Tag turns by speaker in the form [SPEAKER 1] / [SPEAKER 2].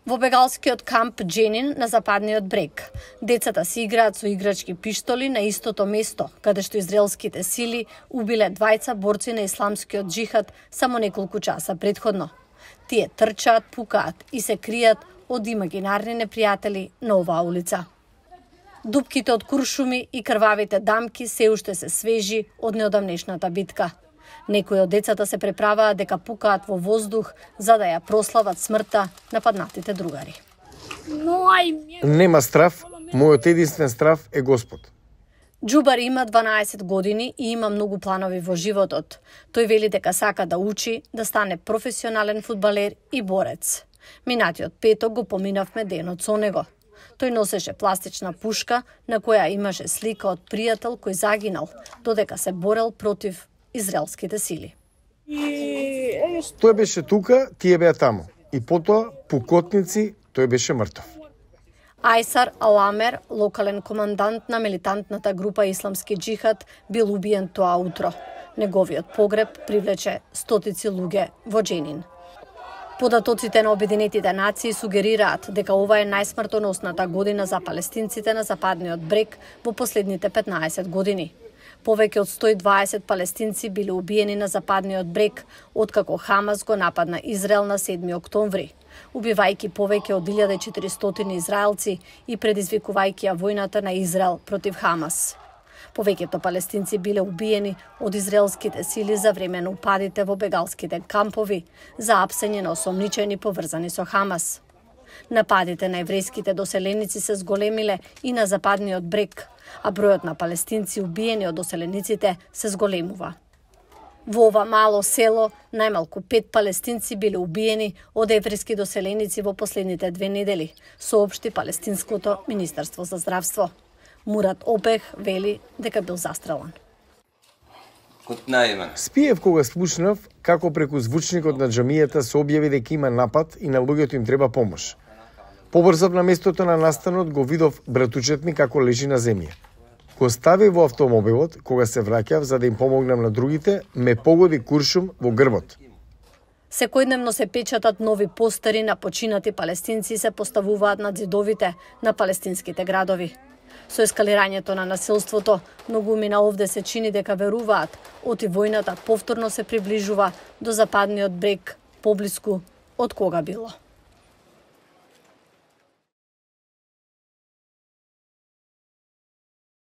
[SPEAKER 1] Во бегалскиот камп Дженин на западниот брег, децата се играат со играчки пиштоли на истото место, каде што израелските сили убиле двајца борци на исламскиот џихад само неколку часа претходно. Тие трчаат, пукаат и се кријат од имагинарни непријатели на оваа улица. Дупките од куршуми и крвавите дамки се уште се свежи од неодамнешната битка. Некои од децата се преправаат дека пукаат во воздух за да ја прослават смртта на паднатите другари.
[SPEAKER 2] Нема страв, мојот единствен страв е Господ.
[SPEAKER 1] Џубар има 12 години и има многу планови во животот. Тој вели дека сака да учи, да стане професионален фудбалер и борец. Минатиот петок го поминавме денот со него. Тој носеше пластична пушка на која имаше слика од пријател кој загинал, додека се борел против израелските сили.
[SPEAKER 2] Тој беше тука, тие беа таму. И потоа, пукотници, тој беше мртов.
[SPEAKER 1] Ајсар Аламер, локален командант на милитантната група Исламски џихад, бил убиен тоа утро. Неговиот погреб привлече стотици луѓе во Дженин. Податоците на Обединетите нации сугерираат дека ова е најсмртоносната година за палестинците на западниот брег во последните 15 години. Повеќе од 120 палестинци биле убиени на западниот брег откако Хамас го нападна Израел на 7 октомври, убивајќи повеќе од 1400 израелци и предизвикувајќи ја војната на Израел против Хамас. Повеќето палестинци биле убиени од израелските сили за време на упадите во бегалските кампови за апсење на осомничени поврзани со Хамас. Нападите на еврејските доселеници се зголемиле и на западниот брег, а бројот на палестинци убиени од доселениците се зголемува. Во ова мало село, најмалку 5 палестинци биле убиени од еврејски доселеници во последните 2 недели, соопшти Палестинското министерство за здравство. Мурат Обех вели дека бил застрелан.
[SPEAKER 2] Спиев кога слушнав како преку звучникот на џамијата се објави дека има напад и на луѓето им треба помош. Побрзав на местото на настанот, го видов братучет ми како лежи на земја. Го стави во автомобилот, кога се враќав за да им помогнам на другите, ме погоди куршум во грбот.
[SPEAKER 1] Секојдневно се печатат нови постери на починати палестинци и се поставуваат над зидовите на палестинските градови. Со ескалирањето на насилството, многуми на овде се чини дека веруваат, оти војната повторно се приближува до западниот брег, поблиску од кога било.